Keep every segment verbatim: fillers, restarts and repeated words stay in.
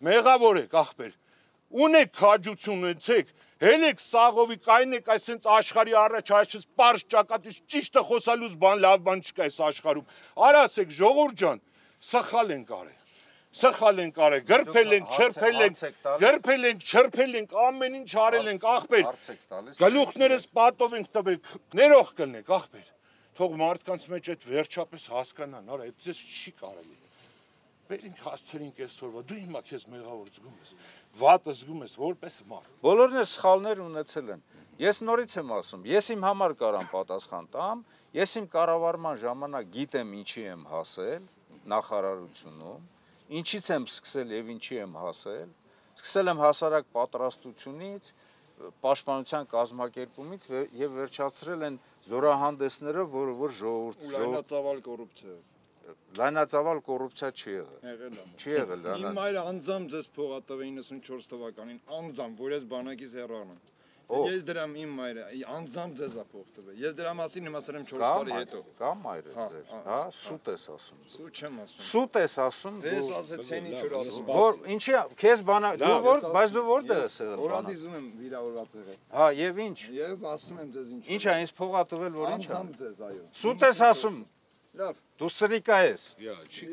մեղավոր եք ախպեր, ունեք քաջություն ունեցեք, հելեք սաղովի կային եք այսենց աշխարհի առաջ այսպես պարզ ճակատից ճիշտը խոսալուց բան լավ բան չկա այս աշխարհում, արասեք ժողովուրդ ջան, սխալ ենք արել, սխալ ենք արել, գրփել ենք, չրփել ենք, գրփել ենք, չրփել ենք, ամեն ինչ արել ենք ախպեր, գլուխներս պատով ենք տվել, ներող կլնեք ախպեր, թող մարդկանց մեջ այդ վերջապես հասկանան, արա, այդպես չի կարելի։ Մենք հասցրինք այսօրվա, դու հիմա քեզ մեղավոր զգում ես, վատը զգում ես, որպես մարդ։ Բոլորն էլ սխալներ ունեցել են։ Ես նորից եմ ասում, ես իմ համար կարամ պատասխան տամ, ես իմ կառավարման ժամանակ գիտեմ ինչի եմ հասել նախարարությունում, ինչից եմ սկսել եւ ինչի եմ հասել, սկսել եմ հասարակ պատրաստությունից, պաշտպանության կազմակերպումից եւ վերջացրել են զորահանդեսները, որը որ ժողովուրդ լայնածավալ կոռուպցիա Լայնածավալ կոռուպցիա չի եղել։ Չի եղել։ Իմ մայրը անձամբ ձեզ փող տվե իննսունչորս թվականին, անձամբ, որ ես բանակից հեռանամ։ Ես դրամ իմ մայրը, անձամբ ձեզ է փող տվե։ Ես դրա մասին իմացել եմ չորս տարի հետո։ Կա մայրը ձեր, հա, սուտ ես ասում։ Սուտ չեմ ասում։ Սուտ ես ասում։ Ես ասեցին ինչ որ ասում։ Որ ինչի, քեզ բանա, դու որ, բայց դու որտեղ ես եղել։ Օրադիզում եմ վիրավորված եղել։ Հա, եւ ինչ։ Եվ ասում եմ ձեզ ինչ։ Ինչ է, ինձ փող տվել, որ ինչ է։ Անձամբ ձեզ, այո։ Սուտ ես ասում։ Լավ։ Դու սրիկա ես։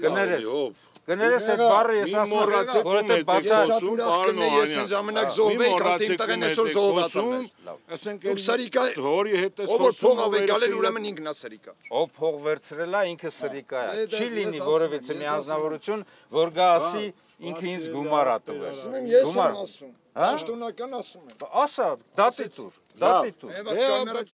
Կներես։ Կներես այդ բառը ես ասում, որ դա բացասում, պարոն ես այն ժամանակ զոհվեի, ասեմ տղեն այսօր զոհվածում։ Ասենք դուք սրիկա հորի հետ ես ով փող ավ գալել ուրեմն ինքն է սրիկա։ Ով փող վերցրել է, ինքը սրիկա է։ Չի լինի որևիցե մի անձնավորություն, որ գա ասի ինքը ինձ գումար ա տվել։ Ես եմ ասում։ Պաշտոնական ասում եմ։ Ասա, դատի տուր, դատի տուր։